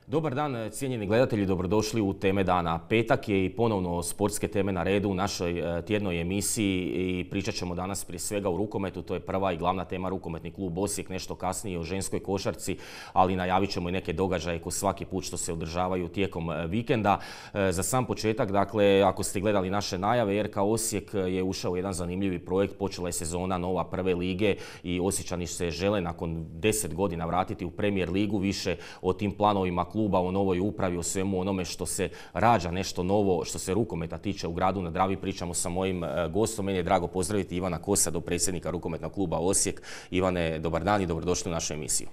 Dobar dan, cijenjeni gledatelji, dobrodošli u Teme dana. Petak je i ponovno sportske teme na redu u našoj tjednoj emisiji i pričat ćemo danas prije svega o rukometu. To je prva i glavna tema Rukometni klub Osijek, nešto kasnije o ženskoj košarci, ali najavit ćemo i neke događaje ko svaki put što se održavaju tijekom vikenda. Za sam početak, dakle, ako ste gledali naše najave, RK Osijek je ušao u jedan zanimljivi projekt, počela je sezona nova prve lige i Osječani se žele nakon 10 godina vratiti u Premier ligu, više o tim planovima kluba, o novoj upravi, o svemu onome što se rađa, nešto novo što se rukometa tiče u gradu na Dravi. Pričamo sa mojim gostom. Meni je drago pozdraviti Ivana Kosadu, predsjednika Rukometnog kluba Osijek. Ivane, dobar dan i dobrodošli u našu emisiju.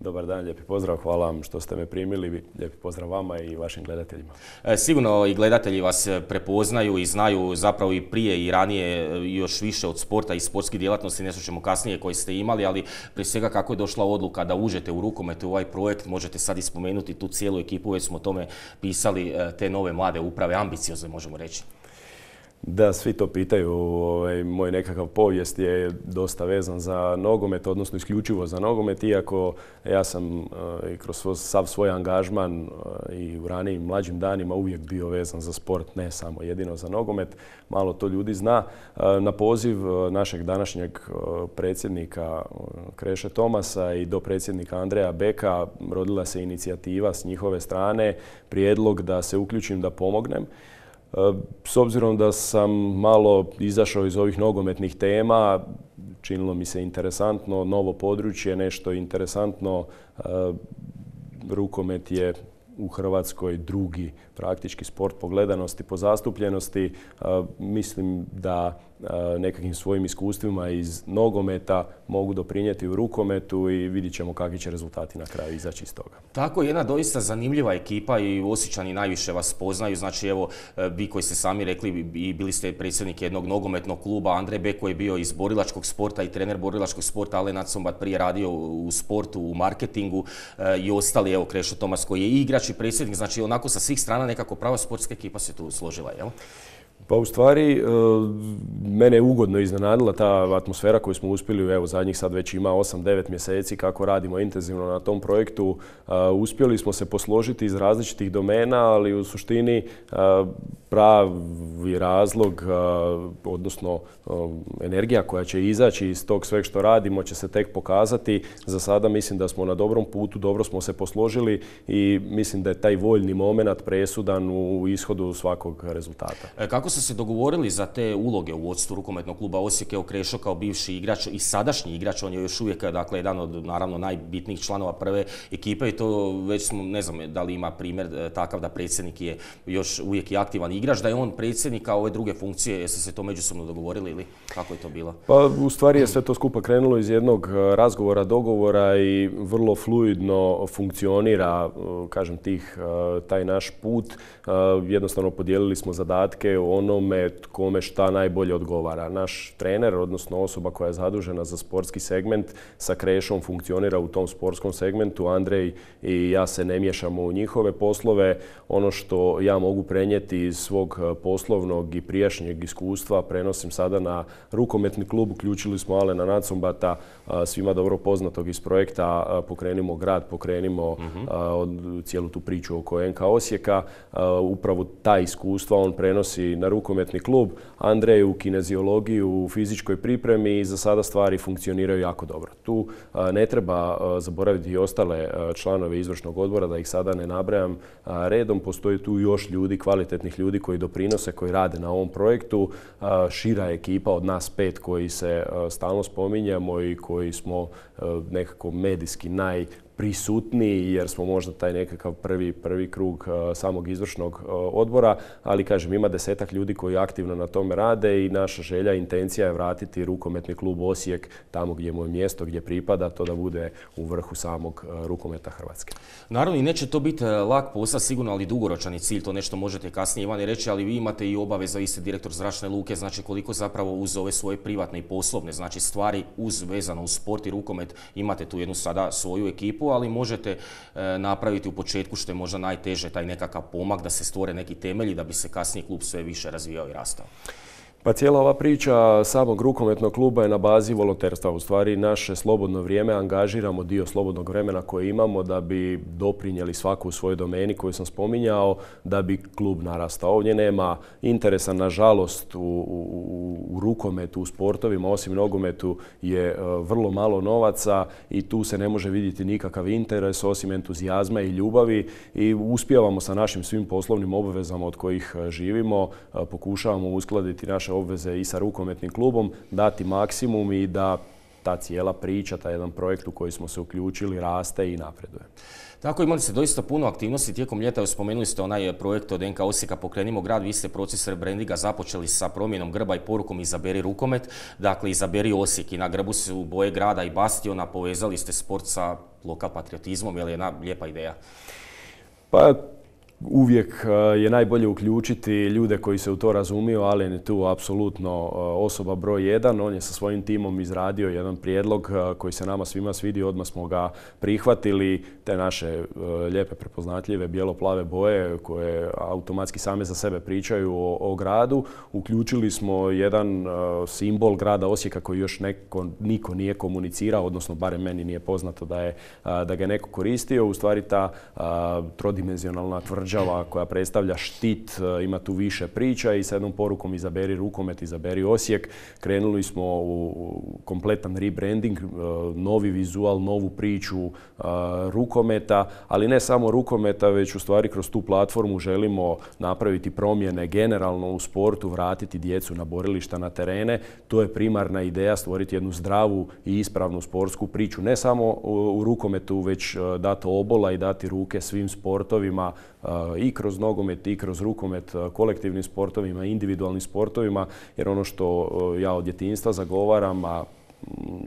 Dobar dan, lijepi pozdrav, hvala vam što ste me primili, lijepi pozdrav vama i vašim gledateljima. Sigurno i gledatelji vas prepoznaju i znaju zapravo i prije i ranije još više od sporta i sportskih djelatnosti, nešto ćemo kasnije koje ste imali, ali prije svega kako je došla odluka da uđete u rukomet u ovaj projekt, možete sad i spomenuti tu cijelu ekipu, već smo o tome pisali, te nove mlade uprave, ambiciozne možemo reći. Da, svi to pitaju. Moj nekakav povijest je dosta vezan za nogomet, odnosno isključivo za nogomet, iako ja sam i kroz sav svoj angažman i u ranijim mlađim danima uvijek bio vezan za sport, ne samo jedino za nogomet. Malo to ljudi zna. Na poziv našeg današnjeg predsjednika Kreše Tomasa i dopredsjednika Andreja Beka rodila se inicijativa s njihove strane, prijedlog da se uključim, da pomognem. S obzirom da sam malo izašao iz ovih nogometnih tema, činilo mi se interesantno, novo područje, nešto interesantno. Rukomet je u Hrvatskoj drugi praktički sport po gledanosti, po zastupljenosti. Mislim da nekakvim svojim iskustvima iz nogometa mogu doprinijeti u rukometu i vidit ćemo kakvi će rezultati na kraju izaći iz toga. Tako, jedna doista zanimljiva ekipa i Osječani najviše vas poznaju. Znači, evo, vi koji ste sami rekli i bili ste predsjednik jednog nogometnog kluba, Andrej Beko je bio iz borilačkog sporta i trener borilačkog sporta, Alen Acombat prije radio u sportu, u marketingu i ostali, evo, Krešo Tomas koji je i igrač i predsjednik. Znači, onako sa svih strana nekako prava sportska ekipa se tu složila, jel? Pa u stvari, mene je ugodno iznenadila ta atmosfera koju smo uspjeli, evo zadnjih sad već ima 8-9 mjeseci kako radimo intenzivno na tom projektu. Uspjeli smo se posložiti iz različitih domena, ali u suštini pravi razlog, odnosno energija koja će izaći iz tog sveg što radimo će se tek pokazati. Za sada mislim da smo na dobrom putu, dobro smo se posložili i mislim da je taj voljni moment presudan u ishodu svakog rezultata. Kako ste se dogovorili za te uloge u vodstvu Rukometnog kluba Osijek? Evo, Krešo kao bivši igrač i sadašnji igrač, on je još uvijek, dakle, jedan od naravno najbitnijih članova prve ekipe i to već smo, ne znam da li ima primjer takav da predsjednik je još uvijek i aktivan igrač, da je on predsjednik, a ove druge funkcije, jeste se to međusobno dogovorili ili kako je to bilo? Pa u stvari je sve to skupa krenulo iz jednog razgovora, dogovora i vrlo fluidno funkcionira, kažem, taj naš put. Jednostavno podijelili smo zadatke o onome kome šta najbolje odgovara. Naš trener, odnosno osoba koja je zadužena za sportski segment, sa Krešom funkcionira u tom sportskom segmentu. Andrej i ja se ne miješamo u njihove poslove. Ono što ja mogu prenijeti iz svog poslovnog i prijašnjeg iskustva prenosim sada na rukometni klub. Uključili smo Alena Nacombata, svima dobro poznatog iz projekta Pokrenimo grad, pokrenimo cijelu tu priču oko NK Osijeka. Upravo ta iskustva on prenosi na rukometni klub. Andrej u kineziologiju, u fizičkoj pripremi i za sada stvari funkcioniraju jako dobro. Tu ne treba zaboraviti i ostale članove izvršnog odbora, da ih sada ne nabrajam redom. Postoji tu još ljudi, kvalitetnih ljudi koji doprinose, koji rade na ovom projektu. Šira ekipa od nas 5 koji se stalno spominjamo i koji smo nekako medijski prisutniji jer smo možda taj nekakav prvi krug samog izvršnog odbora, ali kažem, ima 10-ak ljudi koji aktivno na tome rade i naša želja, intencija je vratiti Rukometni klub Osijek tamo gdje mu je mjesto, gdje pripada, to da bude u vrhu samog rukometa Hrvatske. Naravno i neće to biti lak posao sigurno, ali dugoročan je cilj, to nešto možete kasnije Ivane reći, ali vi imate i obaveza, vi ste direktor Zračne luke, znači koliko zapravo uz ove svoje privatne i poslovne, znači stvari vezano uz sport i rukomet, imate tu jednu sada svoju ekipu, ali možete napraviti u početku što je možda najteže, taj nekakav pomak da se stvore neki temelji da bi se kasnije klub sve više razvijao i rastao. Pa cijela ova priča samog rukometnog kluba je na bazi volonterstva. U stvari naše slobodno vrijeme angažiramo dio slobodnog vremena koje imamo da bi doprinijeli svaku u svojoj domeni koju sam spominjao, da bi klub narastao. Ovdje nema interesa, nažalost, u rukometu, u sportovima, osim nogometu je vrlo malo novaca i tu se ne može vidjeti nikakav interes osim entuzijazma i ljubavi i uspijevamo sa našim svim poslovnim obvezama od kojih živimo, pokušavamo uskladiti naše obveze i sa rukometnim klubom, dati maksimum i da ta cijela priča, taj jedan projekt u koji smo se uključili raste i napreduje. Tako, imali ste doista puno aktivnosti tijekom ljeta. Spomenuli ste onaj projekt od NK Osijeka Pokrenimo grad. Vi ste proces rebrandinga započeli sa promjenom grba i porukom Izaberi rukomet. Dakle, Izaberi Osijek i na grbu su boje grada i bastiona. Povezali ste sport sa lokal patriotizmom. Je li jedna lijepa ideja? Pa, uvijek je najbolje uključiti ljude koji se u to razumiju, Alen je tu apsolutno osoba broj 1. On je sa svojim timom izradio jedan prijedlog koji se nama svima svidio, odmah smo ga prihvatili. Te naše lijepe, prepoznatljive, bijelo-plave boje koje automatski same za sebe pričaju o gradu. Uključili smo jedan simbol grada Osijeka koji još niko nije komunicirao, odnosno barem meni nije poznato da ga je neko koristio. U stvari ta trodimenzionalna tvrđava koja predstavlja štit, ima tu više priča i sa jednom porukom Izaberi rukomet, Izaberi Osijek. Krenuli smo u kompletan rebranding, novi vizual, novu priču rukometa, ali ne samo rukometa, već u stvari kroz tu platformu želimo napraviti promjene generalno u sportu, vratiti djecu na borilišta, na terene. To je primarna ideja, stvoriti jednu zdravu i ispravnu sportsku priču. Ne samo u rukometu, već dati obola i dati ruke svim sportovima, i kroz nogomet i kroz rukomet, kolektivnim sportovima, individualnim sportovima, jer ono što ja od djetinjstva zagovaram, a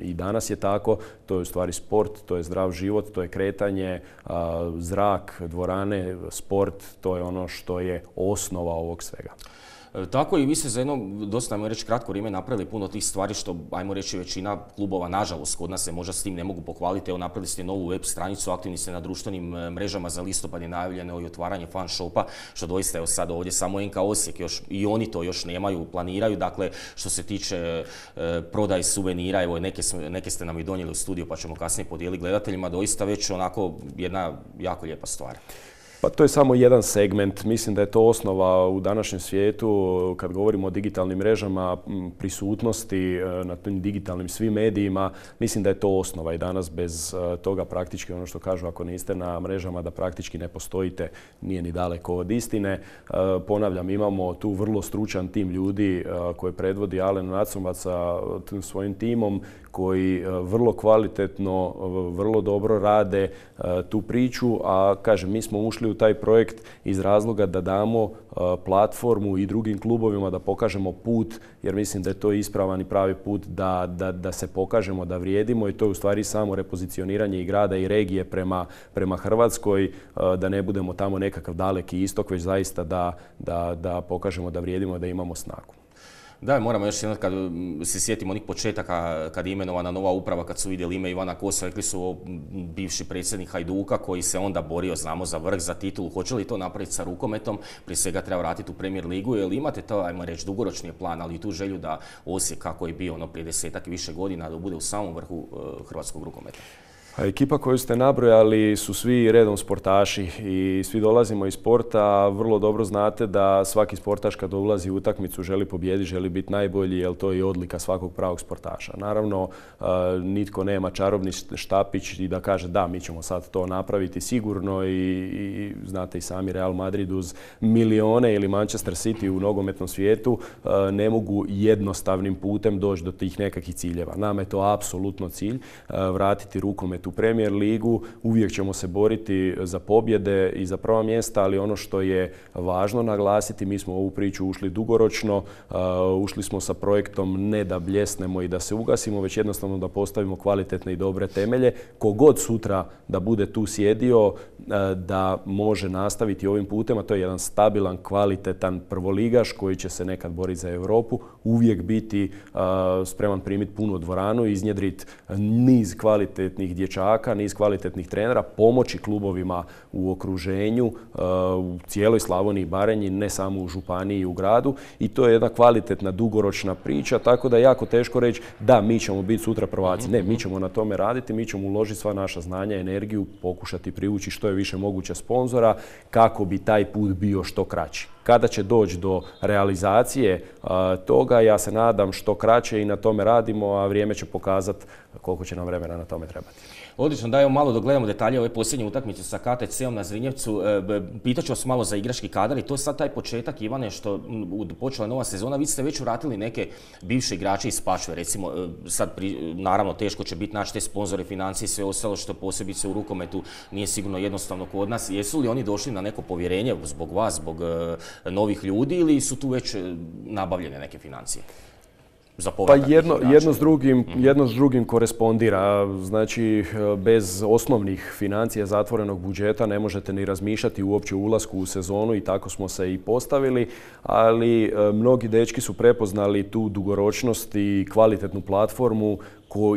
i danas je tako, to je u stvari sport, to je zdrav život, to je kretanje, zrak, dvorane, sport, to je ono što je osnova ovog svega. Tako i vi ste za jedno, dosta ajmo reći, kratko vrijeme napravili puno tih stvari što, ajmo reći, većina klubova, nažalost, kod nas se možda s tim ne mogu pohvaliti. Evo, napravili ste novu web stranicu, aktivni ste na društvenim mrežama, za listopad je najavljeno i otvaranje fan shopa, što doista je sad ovdje samo NK Osijek, i oni to još nemaju, planiraju. Dakle, što se tiče prodaje suvenira, evo, neke ste nam i donijeli u studiju pa ćemo kasnije podijeliti gledateljima, doista već onako jedna jako lijepa stvar. Pa to je samo jedan segment. Mislim da je to osnova u današnjem svijetu. Kad govorimo o digitalnim mrežama, prisutnosti na tim digitalnim svim medijima, mislim da je to osnova i danas bez toga praktički ono što kažu, ako niste na mrežama da praktički ne postojite, nije ni daleko od istine. Ponavljam, imamo tu vrlo stručan tim ljudi koje predvodi Alen Nacumac sa svojim timom koji vrlo kvalitetno, vrlo dobro rade tu priču, a kažem, mi smo ušli u taj projekt iz razloga da damo platformu i drugim klubovima da pokažemo put, jer mislim da je to ispravan i pravi put da se pokažemo, da vrijedimo i to je u stvari samo repozicioniranje i grada i regije prema Hrvatskoj, da ne budemo tamo nekakav daleki istok, već zaista da pokažemo da vrijedimo, da imamo snagu. Da, moramo još jednom, kad se sjetimo onih početaka, kad je imenovana nova uprava, kad su vidjeli ime Ivana Kosa, rekli su bivši predsjednik Hajduka koji se onda borio, znamo, za vrh, za titulu. Hoće li to napraviti sa rukometom? Prije svega treba vratiti u Premier ligu, jer imate to, ajmo reći, dugoročni plan, ali i tu želju da Osijek, kako je bio prije 10-ak i više godina, da bude u samom vrhu hrvatskog rukometa. A ekipa koju ste nabrojali su svi redom sportaši i svi dolazimo iz sporta. Vrlo dobro znate da svaki sportaš kad ulazi u utakmicu želi pobijediti, želi biti najbolji, jer to je i odlika svakog pravog sportaša. Naravno, nitko nema čarobni štapić i da kaže da, mi ćemo sad to napraviti sigurno i znate i sami, Real Madrid uz milione ili Manchester City u nogometnom svijetu ne mogu jednostavnim putem doći do tih nekakvih ciljeva. Nama je to apsolutno cilj, vratiti rukomet u Premier ligu, uvijek ćemo se boriti za pobjede i za prva mjesta, ali ono što je važno naglasiti, mi smo u ovu priču ušli dugoročno, ušli smo sa projektom ne da bljesnemo i da se ugasimo, već jednostavno da postavimo kvalitetne i dobre temelje. Kogod sutra da bude tu sjedio, da može nastaviti ovim putem, a to je jedan stabilan, kvalitetan prvoligaš koji će se nekad boriti za Europu, uvijek biti spreman primiti punu dvoranu, iznjedriti niz kvalitetnih dječaka dječaka, niz kvalitetnih trenera, pomoći klubovima u okruženju, u cijeloj Slavoniji i Baranji, ne samo u županiji i u gradu. I to je jedna kvalitetna, dugoročna priča, tako da je jako teško reći da mi ćemo biti sutra prvaci. Ne, mi ćemo na tome raditi, mi ćemo uložiti sva naša znanja, energiju, pokušati privući što je više moguće sponzora kako bi taj put bio što kraći. Kada će doći do realizacije toga, ja se nadam što kraće i na tome radimo, a vrijeme će pokazati koliko će nam vremena na tome trebati. Odlično, da, evo malo dogledamo detalje ove posljednje utakmice sa KTC-om na Zrinjevcu. Pitaću vas malo za igrački kadar i to je sad taj početak, Ivane, što počela je nova sezona. Vi ste već vratili neke bivše igrače iz Spačve, recimo sad naravno teško će biti naći te sponzore, financije i sve ostalo što posebice u rukometu nije sigurno jednostavno kod nas. Jesu li oni došli na neko povjerenje zbog vas, zbog novih ljudi ili su tu već nabavljene neke financije? Pa jedno s drugim korespondira. Znači, bez osnovnih financija zatvorenog budžeta ne možete ni razmišljati uopće o ulasku u sezonu i tako smo se i postavili, ali mnogi dečki su prepoznali tu dugoročnost i kvalitetnu platformu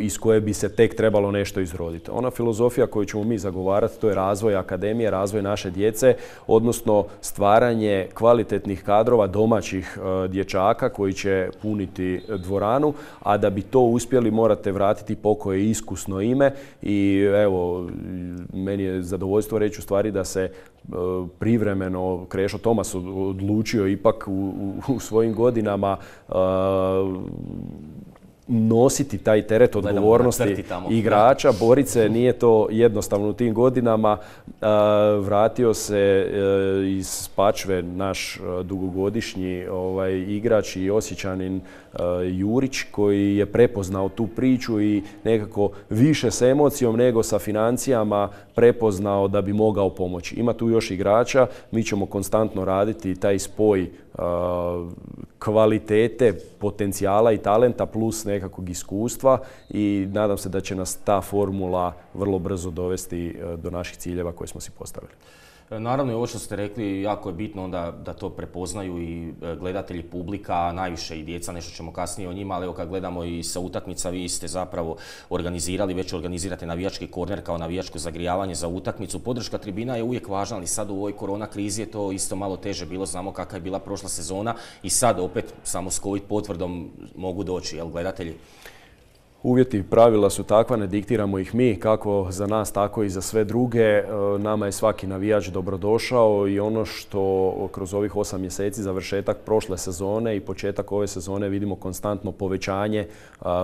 iz koje bi se tek trebalo nešto izroditi. Ona filozofija koju ćemo mi zagovarati, to je razvoj akademije, razvoj naše djece, odnosno stvaranje kvalitetnih kadrova domaćih dječaka koji će puniti dvoranu, a da bi to uspjeli morate vratiti pokoje iskusno ime i evo, meni je zadovoljstvo reći u stvari da se privremeno Krešo Tomas odlučio ipak u svojim godinama nositi taj teret odgovornosti igrača, boriti se, nije to jednostavno u tim godinama. Vratio se iz Spačve naš dugogodišnji igrač i Osječanin Jurić koji je prepoznao tu priču i nekako više s emocijom nego sa financijama prepoznao da bi mogao pomoći. Ima tu još igrača, mi ćemo konstantno raditi taj spoj kvalitete, potencijala i talenta plus nekakvog iskustva i nadam se da će nas ta formula vrlo brzo dovesti do naših ciljeva koje smo si postavili. Naravno i ovo što ste rekli, jako je bitno onda da to prepoznaju i gledatelji, publika, najviše i djeca, nešto ćemo kasnije o njima, ali evo kad gledamo i sa utakmica, vi ste zapravo organizirali, već organizirate navijački korner kao navijačko zagrijavanje za utakmicu. Podrška tribina je uvijek važna, ali sad u ovoj korona krizi je to isto malo teže bilo, znamo kakva je bila prošla sezona i sad opet samo s COVID potvrdom mogu doći, jel, gledatelji? Uvjeti, pravila su takva, ne diktiramo ih mi, kako za nas, tako i za sve druge. Nama je svaki navijač dobrodošao i ono što kroz ovih 8 mjeseci završetak prošle sezone i početak ove sezone vidimo konstantno povećanje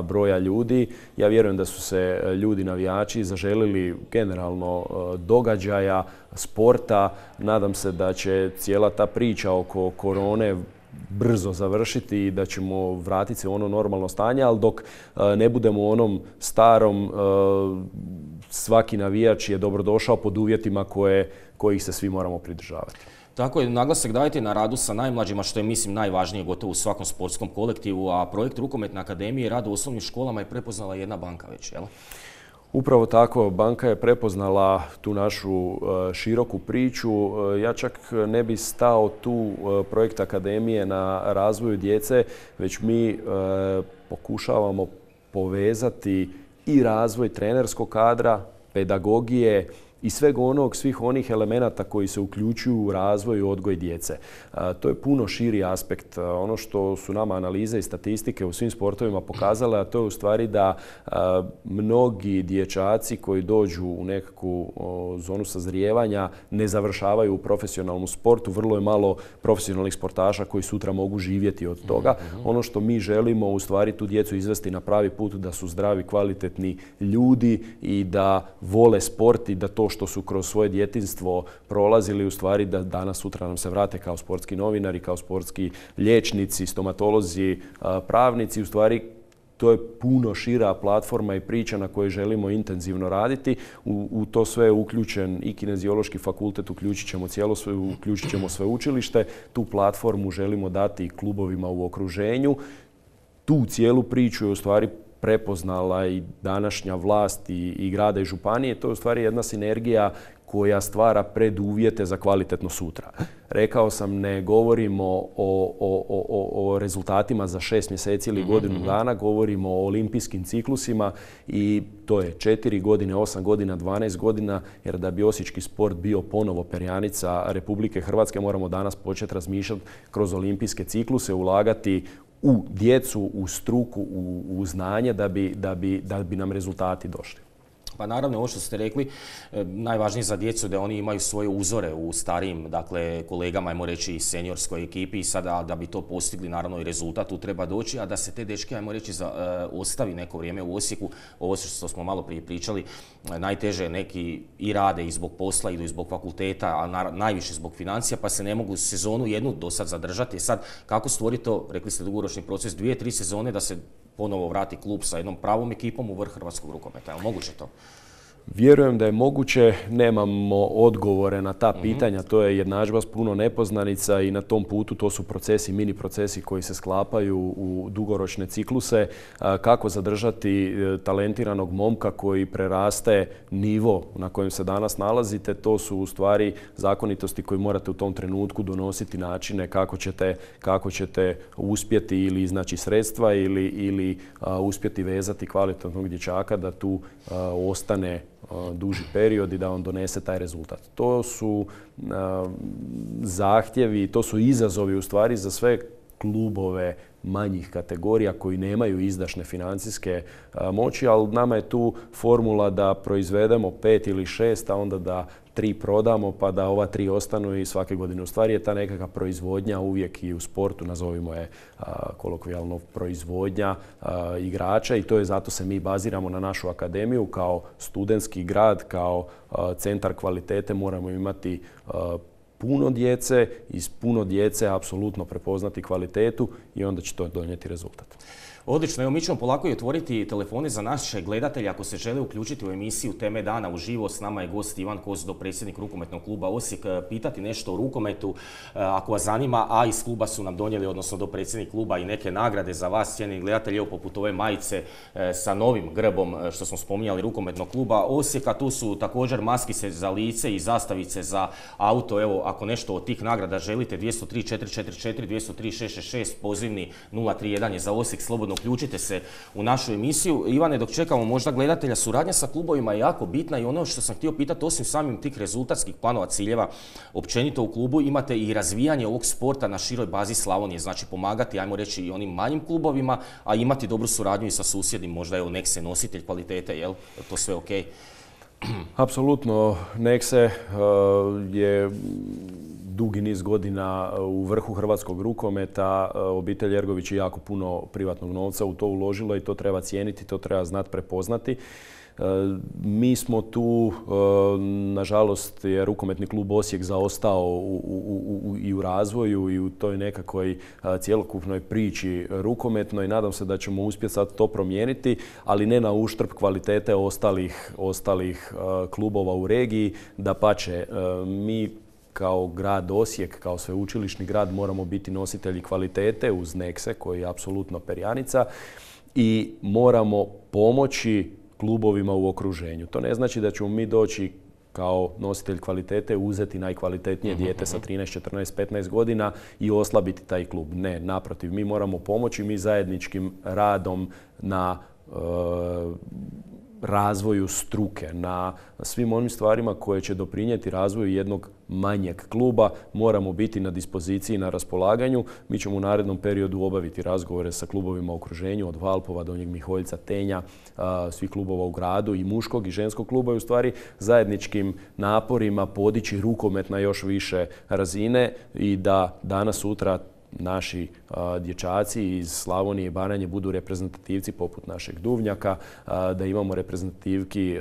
broja ljudi. Ja vjerujem da su se ljudi navijači zaželili generalno događaja, sporta. Nadam se da će cijela ta priča oko korone brzo završiti i da ćemo vratiti se u ono normalno stanje, ali dok ne budemo u onom starom, svaki navijač je dobrodošao pod uvjetima kojih se svi moramo pridržavati. Tako je, naglasak dajete na radu sa najmlađima, što je mislim najvažnije gotovo u svakom sportskom kolektivu, a projekt Rukometne akademije i rad u osnovnim školama je prepoznala jedna banka već, jel? Upravo tako, banka je prepoznala tu našu široku priču. Ja čak ne bi stao tu projekt akademije na razvoju djece, već mi pokušavamo povezati i razvoj trenerskog kadra, pedagogije i svih onih elemenata koji se uključuju u razvoj i odgoj djece. To je puno širi aspekt. Ono što su nama analize i statistike u svim sportovima pokazale, a to je u stvari da mnogi dječaci koji dođu u nekakvu zonu sazrijevanja ne završavaju u profesionalnom sportu. Vrlo je malo profesionalnih sportaša koji sutra mogu živjeti od toga. Ono što mi želimo u stvari tu djecu izvesti na pravi put, da su zdravi, kvalitetni ljudi i da vole sport i da to što su kroz svoje djetinjstvo prolazili, u stvari da danas sutra nam se vrate kao sportski novinari, kao sportski liječnici, stomatolozi, pravnici. U stvari to je puno šira platforma i priča na kojoj želimo intenzivno raditi. U to sve je uključen i Kineziološki fakultet, uključit ćemo sveučilište. Tu platformu želimo dati i klubovima u okruženju. Tu cijelu priču je u stvari prepoznala i današnja vlast i grada i županije. To je u stvari jedna sinergija koja stvara preduvjete za kvalitetno sutra. Rekao sam, ne govorimo o rezultatima za 6 mjeseci ili godinu dana, govorimo o olimpijskim ciklusima i to je 4 godine, 8 godina, 12 godina, jer da bi osječki sport bio ponovo perjanica Republike Hrvatske, moramo danas početi razmišljati kroz olimpijske cikluse, ulagati u djecu, u struku, u znanje da bi nam rezultati došli. Pa naravno, ovo što ste rekli, najvažnije za djecu da oni imaju svoje uzore u starijim, dakle, kolegama, ajmo reći, seniorskoj ekipi i sada da bi to postigli, naravno i rezultat tu treba doći, a da se te dečke, ajmo reći, ostavi neko vrijeme u Osijeku, ovo što smo malo prije pričali, najteže neki i rade i zbog posla, idu i zbog fakulteta, a najviše zbog financija, pa se ne mogu sezonu jednu do sad zadržati. Sad, kako stvoriti to, rekli ste, dugoročni proces, 2-3 sezone da se ponovo vrati klub sa jednom pravom ekipom u vrh hrvatskog rukometa? Je li moguće to? Vjerujem da je moguće, nemamo odgovore na ta pitanja, to je jednadžba s puno nepoznanica i na tom putu to su procesi, mini procesi koji se sklapaju u dugoročne cikluse. Kako zadržati talentiranog momka koji preraste nivo na kojem se danas nalazite, to su u stvari zakonitosti koje morate u tom trenutku donositi načine kako ćete uspjeti ili iznaći sredstva ili uspjeti vezati kvalitetnog dječaka da tu ostane duži period i da on donese taj rezultat. To su zahtjevi, to su izazovi u stvari za sve klubove manjih kategorija koji nemaju izdašne financijske moći, ali nama je tu formula da proizvedemo 5 ili 6, a onda da 3 prodamo pa da ova 3 ostanu i svake godine. U stvari je ta nekakva proizvodnja uvijek i u sportu, nazovimo je kolokvijalno proizvodnja igrača i to je zato se mi baziramo na našu akademiju kao studentski grad, kao centar kvalitete. Moramo imati puno djece, iz puno djece apsolutno prepoznati kvalitetu i onda će to donijeti rezultat. Odlično, evo mi ćemo polako i otvoriti telefone za naše gledatelje ako se žele uključiti u emisiju Teme dana uživo. S nama je gost Ivan Kozdo, predsjednik rukometnog kluba Osijek. Pitati nešto o rukometu ako vas zanima, a iz kluba su nam donijeli, odnosno do predsjednik kluba i neke nagrade za vas, cijenjeni gledatelji, evo poput ove majice sa novim grbom što smo spominjali rukometnog kluba Osijeka. Tu su također maskice za lice i zastavice za auto. Evo, ako nešto od tih nagrada želite, 203 444, 203 666, pozivni 031 je za Osijek, slobodno uključite se u našu emisiju. Ivane, dok čekamo možda gledatelja, suradnja sa klubovima je jako bitna i ono što sam htio pitati, osim samim tih rezultatskih planova, ciljeva, općenito u klubu imate i razvijanje ovog sporta na široj bazi Slavonije, znači pomagati, ajmo reći, i onim manjim klubovima, a imati dobru suradnju i sa susjednim, možda je Nexe nositelj kvalitete, jel? To sve ok? Apsolutno, Nexe je dugi niz godina u vrhu hrvatskog rukometa. Obitelj Ergović je jako puno privatnog novca u to uložila i to treba cijeniti, to treba znati prepoznati. Mi smo tu, nažalost, je rukometni klub Osijek zaostao i u razvoju i u toj nekakvoj cjelokupnoj priči rukometnoj. Nadam se da ćemo uspjeti sad to promijeniti, ali ne na uštrb kvalitete ostalih klubova u regiji. Dapače, mi kao grad Osijek, kao sveučilišni grad moramo biti nositelji kvalitete uz Nexe koji je apsolutno perjanica i moramo pomoći klubovima u okruženju. To ne znači da ćemo mi doći kao nositelj kvalitete uzeti najkvalitetnije dijete sa 13, 14, 15 godina i oslabiti taj klub. Ne, naprotiv, mi moramo pomoći, mi zajedničkim radom na razvoju struke, na svim onim stvarima koje će doprinijeti razvoju jednog manjeg kluba moramo biti na dispoziciji, na raspolaganju. Mi ćemo u narednom periodu obaviti razgovore sa klubovima u okruženju, od Valpova, Donjeg Miholjca, Tenja, svih klubova u gradu i muškog i ženskog kluba i u stvari zajedničkim naporima podići rukomet na još više razine i da danas sutra naši dječaci iz Slavonije i Baranje budu reprezentativci poput našeg Duvnjaka, da imamo reprezentativki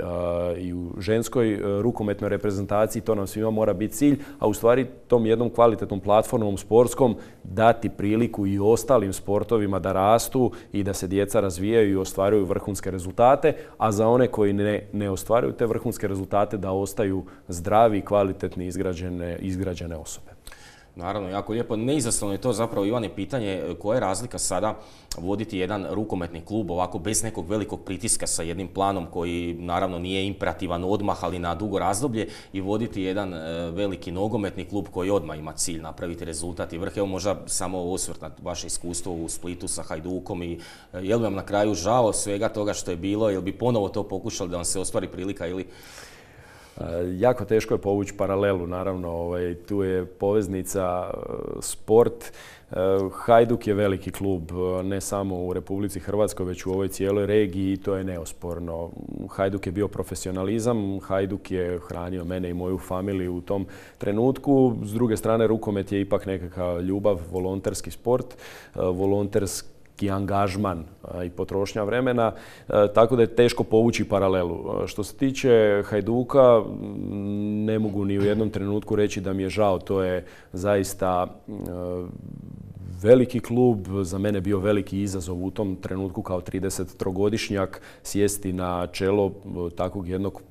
i u ženskoj rukometnoj reprezentaciji, to nam svima mora biti cilj, a u stvari tom jednom kvalitetnom platformom sportskom dati priliku i ostalim sportovima da rastu i da se djeca razvijaju i ostvaruju vrhunske rezultate, a za one koji ne ostvaruju te vrhunske rezultate da ostaju zdravi, kvalitetni, izgrađene osobe. Naravno, jako lijepo. Neizaslovno je to zapravo, Ivane, pitanje koja je razlika sada voditi jedan rukometni klub ovako bez nekog velikog pritiska sa jednim planom koji naravno nije imperativan odmah, ali na dugo razdoblje, i voditi jedan veliki nogometni klub koji odmah ima cilj napraviti rezultat i vrh. Evo možda samo osvrt na vaše iskustvo u Splitu sa Hajdukom i je li vam na kraju žao svega toga što je bilo, jel bi ponovo to pokušali da vam se ostvari prilika ili... Jako teško je povući paralelu, naravno, tu je poveznica sport. Hajduk je veliki klub, ne samo u Republici Hrvatskoj, već u ovoj cijeloj regiji i to je neosporno. Hajduk je bio profesionalizam, Hajduk je hranio mene i moju familiju u tom trenutku. S druge strane, rukomet je ipak nekakav ljubav, volonterski sport, volonterski angažman i potrošnja vremena, tako da je teško povući paralelu. Što se tiče Hajduka, ne mogu ni u jednom trenutku reći da mi je žao, to je zaista veliki klub, za mene bio veliki izazov u tom trenutku kao 33-godišnjak sjesti na čelo takvog jednog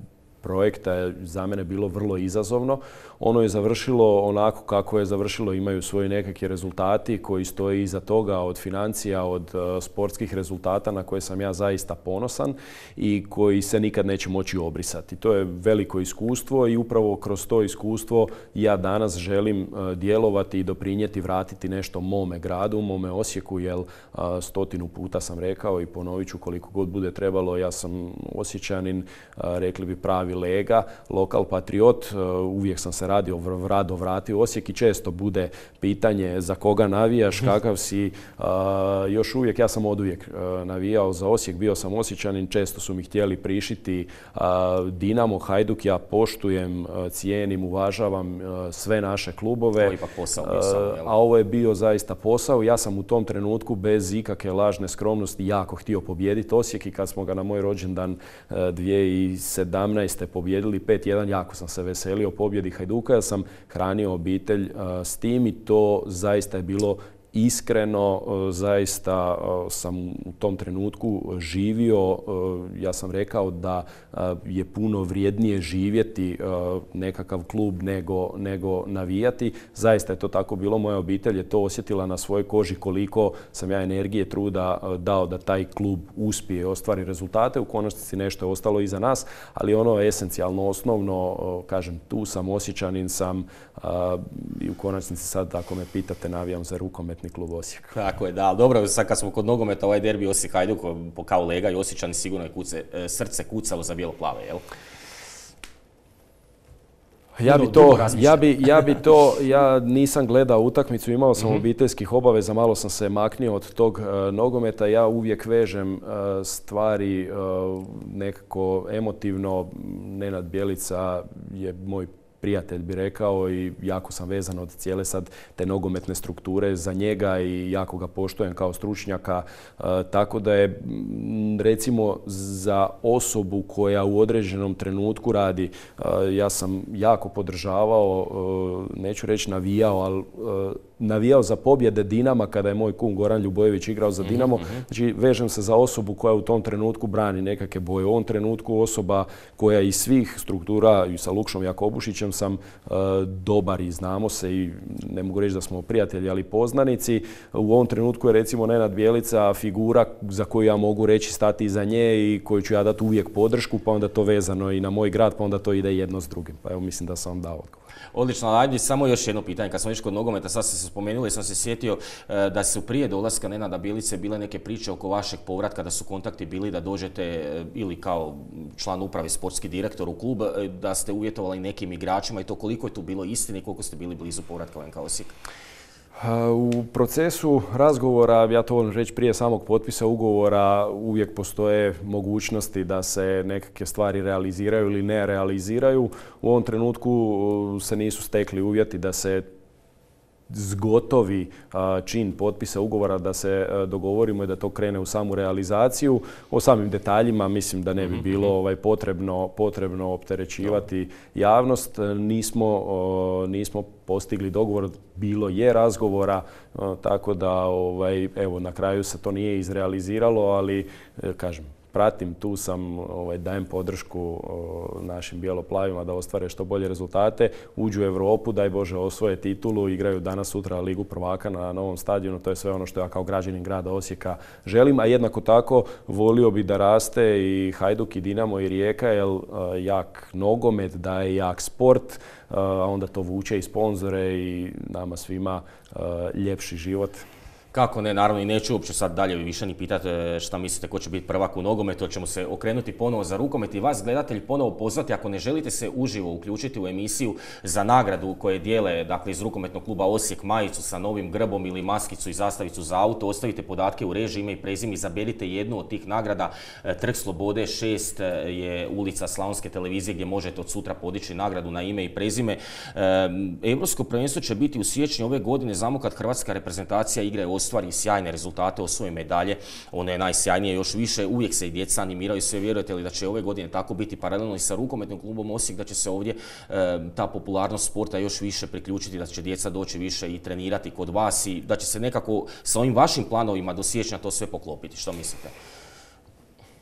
projekta je za mene bilo vrlo izazovno. Ono je završilo onako kako je završilo, imaju svoji nekakvi rezultati koji stoje iza toga, od financija, od sportskih rezultata na koje sam ja zaista ponosan i koji se nikad neće moći obrisati. To je veliko iskustvo i upravo kroz to iskustvo ja danas želim djelovati i doprinijeti, vratiti nešto mome gradu, mome Osijeku, jer 100 puta sam rekao i ponovit ću koliko god bude trebalo, ja sam Osječanin, rekli bi pravi lega, lokal patriot, uvijek sam se rado vratio u Osijek i često bude pitanje za koga navijaš, kakav si. Još uvijek, ja sam oduvijek navijao za Osijek, bio sam Osječanin, često su mi htjeli prišiti Dinamo, Hajduk, ja poštujem, cijenim, uvažavam sve naše klubove. Ovo je ipak posao bio samo, jel? A ovo je bio zaista posao. Ja sam u tom trenutku bez ikakve lažne skromnosti jako htio pobijediti Osijek i kad smo ga na moj rođendan 2017. pobijedili 5-1, jako sam se veselio pobjedi Hajduka. Ja sam hranio obitelj s tim i to zaista je bilo iskreno, zaista sam u tom trenutku živio. Ja sam rekao da je puno vrijednije živjeti nekakav klub nego navijati. Zaista je to tako bilo. Moja obitelj je to osjetila na svojoj koži koliko sam ja energije, truda dao da taj klub uspije, ostvari rezultate. U konačnici nešto je ostalo iza nas, ali ono je esencijalno, osnovno, kažem, tu sam, Osječanin sam i u konačnici sad, ako me pitate, navijam za rukometni klub Osijek. Tako je, da. Dobro, sad kad smo kod nogometa, ovaj derbi Osijek-Hajduk kao lega i Osječani, sigurno je srce kucalo za bijelo-plave, jel? Ja nisam gledao utakmicu, imao sam obiteljskih obaveza, malo sam se maknio od tog nogometa. Ja uvijek vežem stvari nekako emotivno. Nenad Bjelica je moj prijatelj, bi rekao, i jako sam vezan od cijele sad te nogometne strukture za njega i jako ga poštujem kao stručnjaka. Tako da je, recimo, za osobu koja u određenom trenutku radi, ja sam jako podržavao, neću reći navijao, ali navijao za pobjede Dinama kada je moj kum Goran Ljubojević igrao za Dinamo. Znači, vežem se za osobu koja u tom trenutku brani nekakve boje. U ovom trenutku osoba koja iz svih struktura, i sa Lukšom Jakobušićem sam dobar i znamo se i ne mogu reći da smo prijatelji, ali poznanici. U ovom trenutku je, recimo, Nenad Bjelica figura za koju ja mogu reći stati iza nje i koju ću ja dati uvijek podršku, pa onda to vezano i na moj grad, pa onda to ide jedno s drugim. Pa evo, mislim da sam vam dao odgovor. Odlično, ajde samo još jedno pitanje. Kad smo već kod nogometa, sad ste se spomenuli, sam se sjetio da su prije dolaska Nenada Bjelice bile neke priče oko vašeg povratka, da su kontakti bili da dođete ili kao član uprave, sportski direktor u klub, da ste uvjetovali nekim igračima i to koliko je tu bilo istine i koliko ste bili blizu povratka u NK Osijek? U procesu razgovora, ja to volim reći prije samog potpisa ugovora, uvijek postoje mogućnosti da se nekakve stvari realiziraju ili ne realiziraju. U ovom trenutku se nisu stekli uvjeti da se zgotovi čin potpisa ugovora, da se dogovorimo i da to krene u samu realizaciju. O samim detaljima mislim da ne bi bilo potrebno opterećivati javnost. Nismo postigli dogovor, bilo je razgovora, tako da evo, na kraju se to nije izrealiziralo, ali kažem, pratim, tu sam, dajem podršku našim bijeloplavima da ostvare što bolje rezultate, uđu u Europu, daj Bože osvoje titulu, igraju danas sutra Ligu prvaka na novom stadionu, to je sve ono što ja kao građanin grada Osijeka želim, a jednako tako volio bi da raste i Hajduk i Dinamo i Rijeka, jer jak nogomet daje jak sport, a onda to vuče i sponzore i nama svima ljepši život. Kako ne, naravno i neću uopće sad dalje više ni pitati šta mislite ko će biti prvak u nogometu, ćemo se okrenuti ponovo za rukomet i vas gledatelji ponovo pozvati ako ne želite se uživo uključiti u emisiju za nagradu koje dijele dakle, iz rukometnog kluba Osijek majicu sa novim grbom ili maskicu i zastavicu za auto, ostavite podatke u režiji, ime i prezime, izaberite jednu od tih nagrada. Trg Slobode 6 je ulica Slavonske televizije gdje možete od sutra podići nagradu na ime i prezime. Europsko prvenstvo će biti u siječnju ove godine, znamo kad hrvatska reprezentacija igra ostvari sjajne rezultate, osvoje medalje, ono je najsjajnije još više, uvijek se i djeca animiraju, sve vjerujete li da će ove godine tako biti paralelno i sa rukometnim klubom Osijek, da će se ovdje ta popularnost sporta još više priključiti, da će djeca doći više i trenirati kod vas i da će se nekako sa ovim vašim planovima do siječnja to sve poklopiti, što mislite?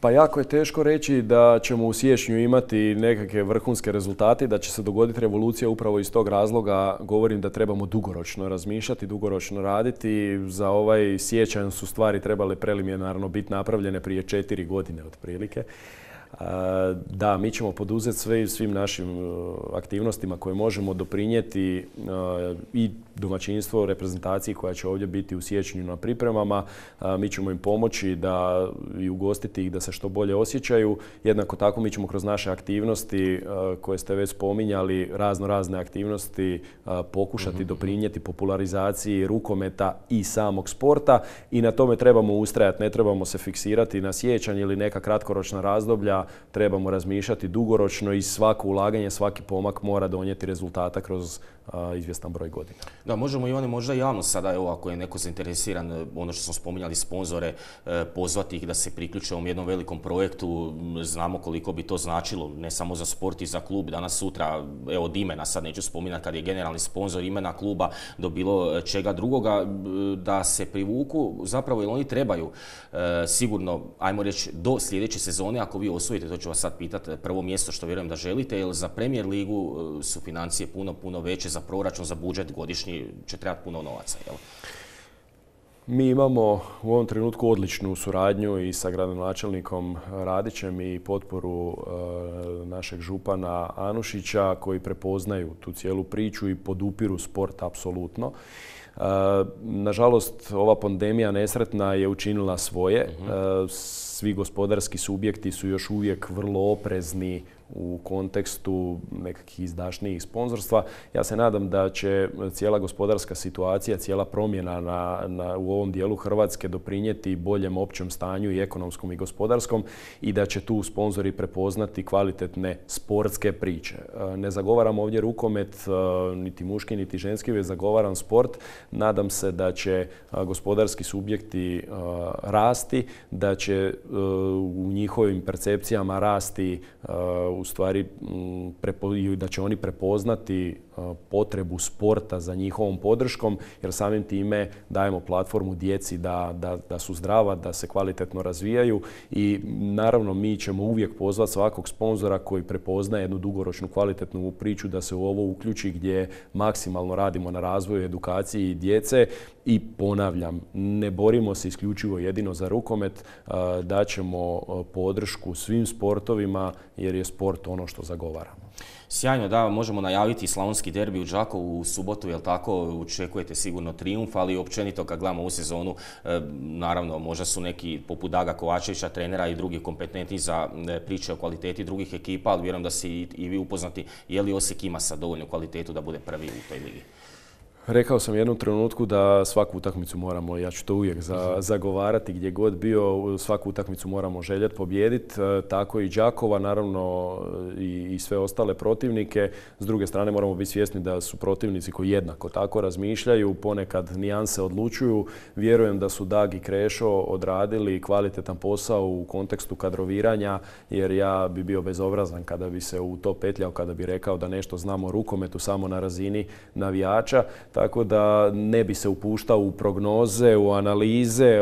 Pa jako je teško reći da ćemo u siječnju imati nekakve vrhunske rezultate, da će se dogoditi revolucija upravo iz tog razloga. Govorim da trebamo dugoročno razmišljati, dugoročno raditi. Za ovaj siječanj su stvari trebale preliminarno biti napravljene prije 4 godine otprilike. Da, mi ćemo poduzeti svim našim aktivnostima koje možemo doprinijeti i domaćinstvo reprezentaciji koja će ovdje biti u siječnju na pripremama. Mi ćemo im pomoći i ugostiti ih da se što bolje osjećaju. Jednako tako mi ćemo kroz naše aktivnosti koje ste već spominjali, razne aktivnosti pokušati doprinijeti popularizaciji rukometa i samog sporta i na tome trebamo ustrajati. Ne trebamo se fiksirati na siječanj ili neka kratkoročna razdoblja, trebamo razmišljati dugoročno i svako ulaganje, svaki pomak mora donijeti rezultata kroz izvjestan broj godina. Da, možemo Ivane možda javno sada, evo ako je neko zainteresiran, ono što smo spominjali sponzore, pozvati ih da se priključe ovom jednom velikom projektu. Znamo koliko bi to značilo, ne samo za sport i za klub. Danas sutra, evo od imena, sad neću spominjati kad je generalni sponzor imena kluba do bilo čega drugoga, da se privuku zapravo jer oni trebaju sigurno, ajmo reći, do sljedeće sezone, ako vi osvojite, to ću vas sad pitati, prvo mjesto što vjerujem da želite, jer za Premier ligu su financije puno veće, za proračun, za budžet godišnji će trebati puno novaca, jel? Mi imamo u ovom trenutku odličnu suradnju i sa gradonačelnikom Radićem i potporu našeg župana Anušića koji prepoznaju tu cijelu priču i podupiru sport apsolutno. Nažalost, ova pandemija nesretna je učinila svoje. Svi gospodarski subjekti su još uvijek vrlo oprezni u kontekstu nekakvih izdašnijih sponzorstva. Ja se nadam da će cijela gospodarska situacija, cijela promjena u ovom dijelu Hrvatske doprinijeti boljem općem stanju i ekonomskom i gospodarskom i da će tu sponzori prepoznati kvalitetne sportske priče. Ne zagovaram ovdje rukomet, niti muški, niti ženski, već zagovaram sport. Nadam se da će gospodarski subjekti rasti, da će u njihovim percepcijama rasti u stvari da će oni prepoznati potrebu sporta za njihovom podrškom, jer samim time dajemo platformu djeci da su zdrava, da se kvalitetno razvijaju i naravno mi ćemo uvijek pozvati svakog sponzora koji prepoznaje jednu dugoročnu kvalitetnu priču da se u ovo uključi gdje maksimalno radimo na razvoju, edukaciji djece i ponavljam, ne borimo se isključivo jedino za rukomet, daćemo podršku svim sportovima jer je sport ono što zagovaramo. Sjajno, da, možemo najaviti slavonski derbi u Đakovu u subotu, jel tako? Očekujete sigurno trijumf, ali općenito kad gledamo u sezonu, naravno možda su neki poput Daga Kovačevića, trenera i drugi kompetentni za priče o kvaliteti drugih ekipa, ali vjerujem da si i vi upoznati je li Osijek ima sad dovoljnu kvalitetu da bude prvi u toj ligi. Rekao sam u jednom trenutku da svaku utakmicu moramo, ja ću to uvijek zagovarati gdje god bio, svaku utakmicu moramo željeti pobijediti, tako i Đakova, naravno i sve ostale protivnike. S druge strane moramo biti svjesni da su protivnici koji jednako tako razmišljaju, ponekad nijanse odlučuju. Vjerujem da su Dag i Krešo odradili kvalitetan posao u kontekstu kadroviranja, jer ja bi bio bezobrazan kada bi se u to petljao, kada bi rekao da nešto znamo o rukometu samo na razini navijača. tako da ne bi se upuštao u prognoze, u analize.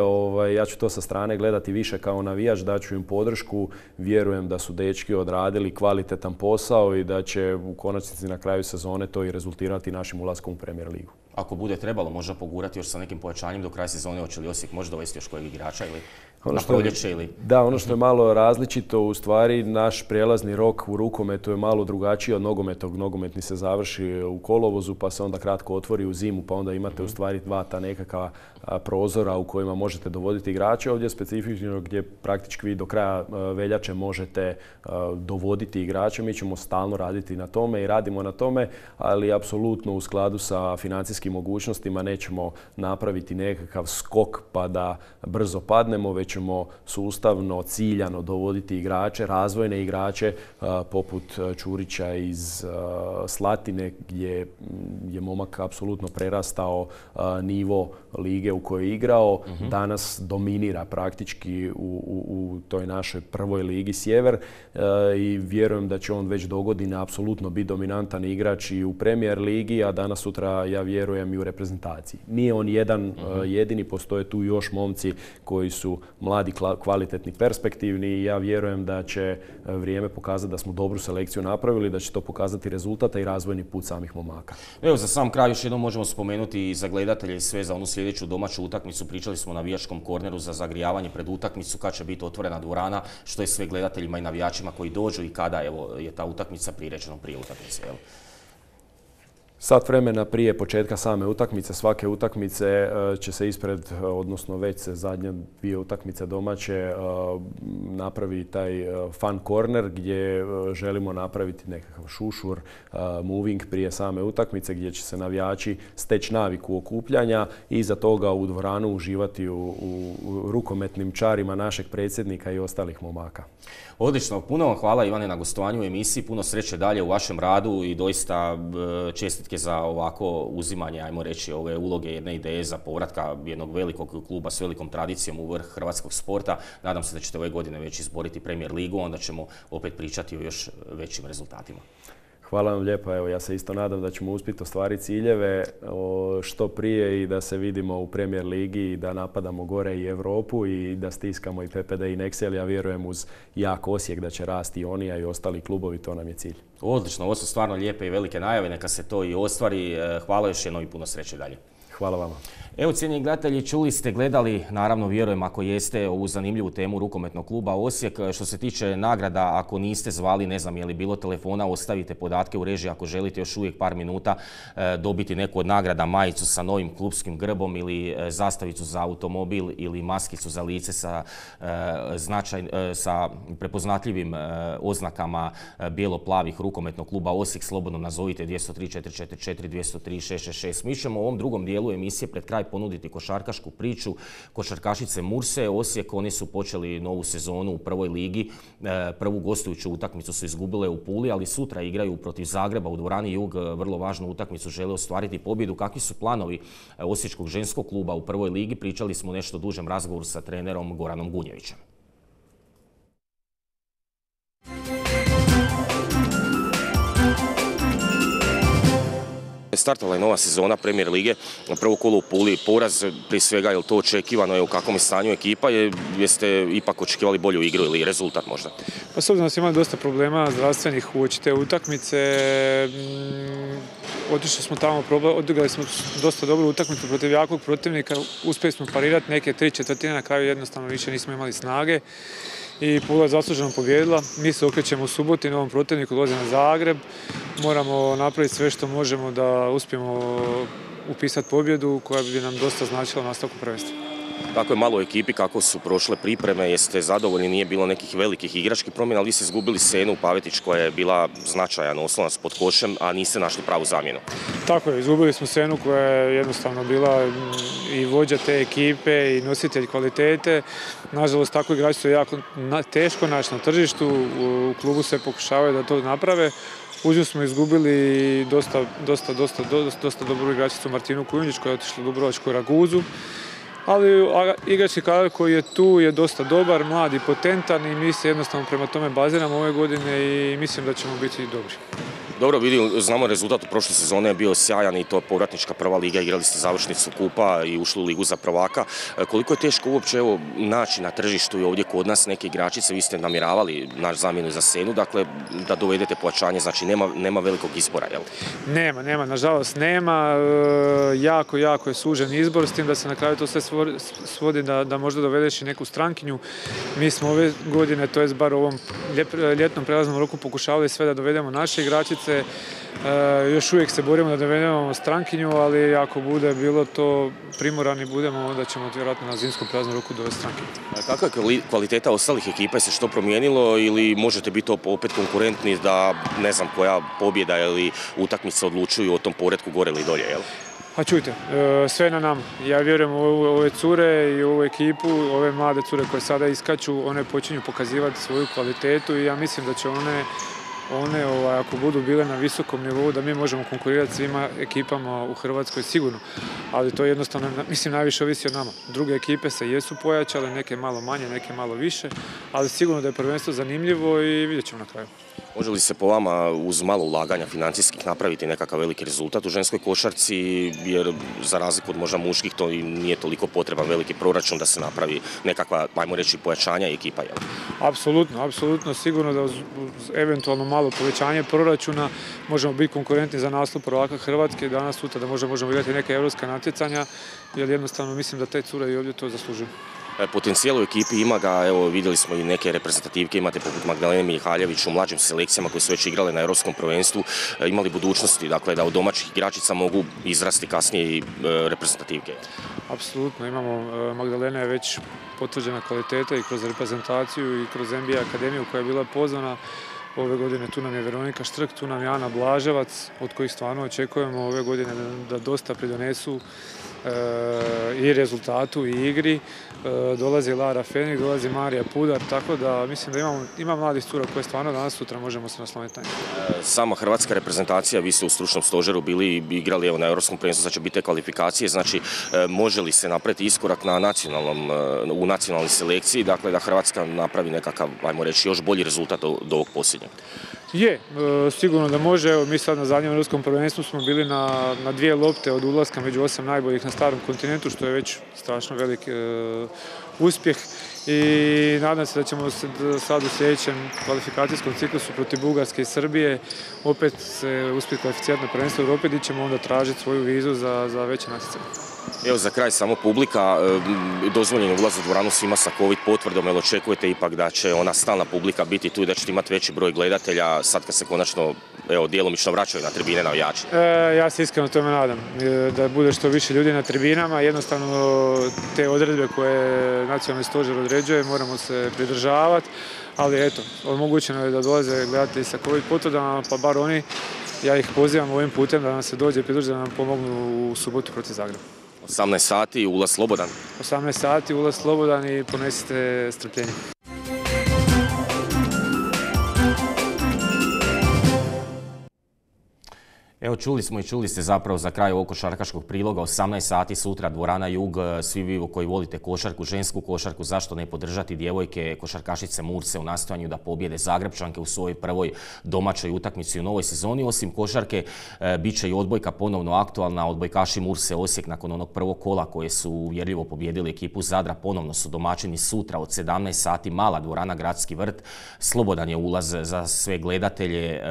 Ja ću to sa strane gledati više kao navijač, daću im podršku. Vjerujem da su dečki odradili kvalitetan posao i da će u konačnici na kraju sezone to i rezultirati našim ulaskom u Premier ligu. Ako bude trebalo, možda pogurati još sa nekim pojačanjem do kraja sezone, hoće li Osijek možda dovesti još kojeg igrača ili na proljeće ili... Da, ono što je malo različito, u stvari naš prijelazni rok u rukometu je malo drugačiji od nogometnog. Nogometni se završi u kolovozu pa se onda kratko otvori u zimu, pa onda imate u stvari dva ta nekakva prozora u kojima možete dovoditi igrače. Ovdje je specifično gdje praktički vi do kraja veljače možete dovoditi igrače. Mi ćemo stalno raditi na tome i radimo na tome, ali apsolutno u skladu sa financijskim mogućnostima nećemo napraviti nekakav skok pa da brzo padnemo, već ćemo sustavno, ciljano dovoditi igrače, razvojne igrače poput Čurića iz Slatine gdje je momak apsolutno prerastao nivo lige u kojoj je igrao. Danas dominira praktički u toj našoj prvoj ligi Sjever i vjerujem da će on već dogodine apsolutno biti dominantan igrač i u Premier ligi, a danas sutra ja vjerujem i u reprezentaciji. Nije on jedan jedini, postoje tu još momci koji su mladi, kvalitetni, perspektivni i ja vjerujem da će vrijeme pokazati da smo dobru selekciju napravili, da će to pokazati rezultata i razvojni put samih momaka. Evo, za sam kraj još jednom možemo spomenuti i za gledatelje i sve za onu sljedeću domaću utakmicu. Pričali smo o navijačkom korneru za zagrijavanje pred utakmicu, kad će biti otvorena dvorana, što je sve gledateljima i navijačima koji dođu i kada je ta utakmica priređena prije utakmice. Sat vremena prije početka same utakmice, svake utakmice će se ispred, odnosno već se zadnje dvije utakmice domaće napravi taj fun corner gdje želimo napraviti nekakav šušur, moving prije same utakmice gdje će se navijači steći naviku okupljanja i iza toga u dvoranu uživati u rukometnim čarima našeg predsjednika i ostalih momaka. Odlično, puno vam hvala Ivane na gostovanju u emisiji, puno sreće dalje u vašem radu i doista čestitke za ovako uzimanje, ajmo reći, ove uloge jedne ideje za povratka jednog velikog kluba s velikom tradicijom u vrh hrvatskog sporta. Nadam se da ćete ove godine već izboriti Premier ligu, onda ćemo opet pričati o još većim rezultatima. Hvala vam lijepo. Evo, ja se isto nadam da ćemo uspjeti ostvariti ciljeve što prije i da se vidimo u Premier ligi i da napadamo gore i Europu i da stiskamo i PPD i Nexel. Ja vjerujem uz jak Osijek da će rasti i oni, a i ostali klubovi, to nam je cilj. Odlično, ovo su stvarno lijepe i velike najave, neka se to i ostvari. Hvala još jednom i puno sreće dalje. Hvala vama. Evo, cijenjeni gledatelji, čuli ste, gledali, naravno vjerujem ako jeste, ovu zanimljivu temu rukometnog kluba Osijek. Što se tiče nagrada, ako niste zvali, ne znam je li bilo telefona, ostavite podatke u režiji ako želite još uvijek par minuta dobiti neku od nagrada, majicu sa novim klubskim grbom ili zastavicu za automobil ili maskicu za lice sa prepoznatljivim oznakama bijelo-plavih rukometnog kluba Osijek. Slobodno nazovite 203 444 203 666. Mi ćemo u ovom drugom dijelu emisije pred kraj ponuditi košarkašku priču košarkašice Murse Osijek. Oni su počeli novu sezonu u prvoj ligi. Prvu gostujuću utakmicu su izgubile u Puli, ali sutra igraju protiv Zagreba u dvorani Jug. Vrlo važnu utakmicu, žele ostvariti pobjedu. Kakvi su planovi Osječkog ženskog kluba u prvoj ligi? Pričali smo nešto dužem razgovoru sa trenerom Goranom Gunjevićem. Startala je nova sezona Premier lige, prvo kolo u Puli, poraz, prije svega je li to očekivano, je u kakvom je stanju ekipa, jeste ipak očekivali bolju igru ili rezultat možda? Pa s obzirom da smo imali dosta problema zdravstvenih uoči te utakmice, otišli smo tamo, odigrali smo dosta dobru utakmicu protiv jakog protivnika, uspjeli smo parirati neke 3/4, na kraju jednostavno više nismo imali snage. I Pula je zasluženo pobijedila. Mi se okrećemo u subotu i novom protivniku, dolazi na Zagreb. Moramo napraviti sve što možemo da uspijemo upisati pobjedu koja bi nam dosta značila u nastavku prvenstva. Tako je malo u ekipi, kako su prošle pripreme, jeste zadovoljni, nije bilo nekih velikih igračkih promjena, ali vi ste izgubili Senu Pavetić koja je bila značajan oslonac pod košem, a niste našli pravu zamjenu. Tako je, izgubili smo Senu koja je jednostavno bila i vođa te ekipe i nositelj kvalitete. Nažalost, tako igrači su jako teško naći na tržištu, u klubu se pokušavaju da to naprave. Uz nju smo izgubili dosta dobru igračicu Martinu Kujundić koja je otišla u Dubrovačku Raguzu. Ali igrački kadar koji je tu je dosta dobar, mlad i potentan i mi se jednostavno prema tome baziramo ove godine i mislim da ćemo biti dobri. Dobro, znamo rezultat u prošle sezone je bio sjajan i to povratnička prva liga, igrali ste završnicu kupa i ušli u ligu za prvaka. Koliko je teško uopće naći na tržištu i ovdje kod nas neke igračice, vi ste namjeravali naš zamjenu za Senu, dakle da dovedete pojačanje, znači nema velikog izbora, jel? Nema, nažalost nema. Jako je sužen izbor, s tim da se na kraju to sve svodi da možda dovedeš i neku strankinju. Mi smo ove godine, to jest bar u ovom ljetnom prelaznom roku, pokušavali sve da dovedemo naše igračice. Još uvijek se borimo da dovedemo strankinju, ali ako bude bilo to primorani budemo, onda ćemo vjerojatno na zimskom prelaznom roku dovesti strankinju. Kakva je kvaliteta ostalih ekipa? Se što promijenilo ili možete biti opet konkurentni da ne znam koja pobjeda ili utakmica odlučuju o tom poretku gore ili dolje, jel? Pa čujte, sve je na nama. Ja vjerujem u ove cure i u ovu ekipu, ove mlade cure koje sada iskaču, one počinju pokazivati svoju kvalitetu i ja mislim da će one ako budu bile na visokom nivou, da mi možemo konkurirati svima ekipama u Hrvatskoj sigurno. Ali to jednostavno, mislim, najviše ovisi od nama. Druge ekipe se jesu pojačale, neke malo manje, neke malo više, ali sigurno da je prvenstvo zanimljivo i vidjet ćemo na kraju. Može li se po vama uz malo ulaganja financijskih napraviti nekakav veliki rezultat u ženskoj košarci, jer za razliku od možda muških to nije toliko potreban veliki proračun da se napravi nekakva, ajmo reći, pojačanja ekipa, jel? Apsolutno, sigurno da uz eventualno malo povećanje proračuna možemo biti konkurentni za naslov prvaka Hrvatske danas sutra, da možemo igrati neke europska natjecanja, jer jednostavno mislim da te cure i ovdje to zaslužuju. Potencijal u ekipi ima ga, evo vidjeli smo i neke reprezentativke, imate poput Magdalene Mihaljević u mlađim selekcijama koje su već igrale na europskom prvenstvu, imali budućnosti, dakle da od domaćih igračica mogu izrasti kasnije i reprezentativke. Apsolutno, imamo, Magdalena je već potvrđena kvaliteta i kroz reprezentaciju i kroz NBA akademiju koja je bila pozvana. Ove godine tu nam je Veronika Štrk, tu nam je Ana Blaževac, od kojih stvarno očekujemo ove godine da dosta pridonesu i rezultatu i igri. Dolazi Lara Fenik, dolazi Marija Pudar, tako da mislim da ima mladih cura koje stvarno danas sutra možemo se nasloniti na njih. Sama hrvatska reprezentacija, vi ste u stručnom stožeru bili i igrali na europskom prvenstvu, znači biti kvalifikacije, znači može li se napraviti iskorak u nacionalnoj selekciji, dakle da Hrvatska napravi nekakav, ajmo reći, još bolji rezultat do ovog posljednjeg? Je, sigurno da može. Evo, mi sad na zadnjem europskom prvenstvu smo bili na 2 lopte od ulaska među 8 najboljih na starom kontinentu, što je već strašno velik uspjeh i nadam se da ćemo sad u sljedećem kvalifikacijskom ciklusu protiv Bugarske i Srbije opet se uspjeti kvalificirati na prvenstvo Europe gdje ćemo onda tražiti svoju vizu za veće natjecanje. Evo za kraj samo publika, dozvoljen je ulaz u dvoranu svima sa COVID potvrdom, jer očekujete ipak da će ona stalna publika biti tu i da ćete imati veći broj gledatelja sad kad se konačno djelomično vraćaju na tribine navijači? Ja se iskreno tome nadam, da bude što više ljudi na tribinama, jednostavno te odredbe koje nacionalni stožer određuje moramo se pridržavati, ali eto, omogućeno je da dolaze gledatelji sa COVID potvrdama, pa bar oni, ja ih pozivam ovim putem da nam se dođe pridruže da nam pomognu u subotu protiv Zagreba. 18 sati, ulaz slobodan. 18 sati, ulaz slobodan i ponesite strpljenje. Evo čuli ste zapravo za kraj ovog košarkaškog priloga, 18 sati sutra dvorana Jug, svi vi koji volite košarku, žensku košarku, zašto ne podržati djevojke košarkašice Murse u nastojanju da pobjede Zagrepčanke u svojoj prvoj domaćoj utakmici u novoj sezoni. Osim košarke, bit će i odbojka ponovno aktualna. Odbojkaši Murse Osijek nakon onog prvog kola koje su uvjerljivo pobijedili ekipu Zadra ponovno su domaćini sutra od 17 sati, mala dvorana Gradski vrt. Slobodan je ulaz za sve gledatelje,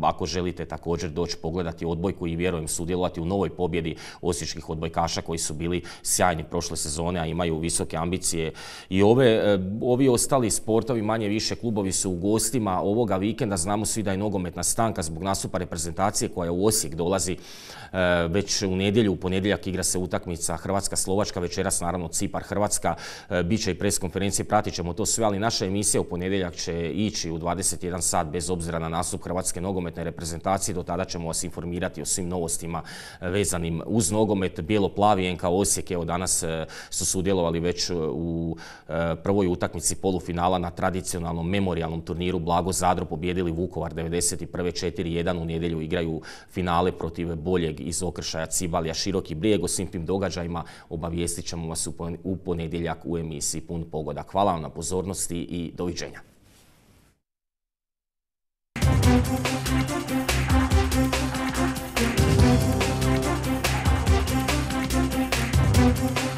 ako želite također doći pogledati odbojku i vjerujem sudjelovati u novoj pobjedi osječkih odbojkaša koji su bili sjajni prošle sezone, a imaju visoke ambicije. I ovi ostali sportovi, manje više klubovi su u gostima ovoga vikenda. Znamo svi da je nogometna stanka zbog nastupa reprezentacije koja u Osijek dolazi već u nedjelju. U ponedjeljak igra se utakmica Hrvatska-Slovačka, večeras naravno Cipar-Hrvatska. Biće i pres konferencije, pratit ćemo to sve, ali naša emisija u ponedjeljak će ići u 21 sat bez obzira na nastup Hrvatske nogometne reprezentacije. Do tada ćemo vas informirati o svim novostima vezanim uz nogomet. Bijelo-plavi NK Osijek, evo danas su sudjelovali već u prvoj utakmici polufinala na tradicionalnom memorijalnom turniru Blago Zadro, pobijedili Vukovar 91. 4-1. U nedjelju igraju finale protiv boljeg iz Okršaja Cibalija Široki Brijeg. O svim tim događajima obavijestit ćemo vas u ponedjeljak u emisiji Pun pogodak. Hvala vam na pozornosti i doviđenja. Thank you.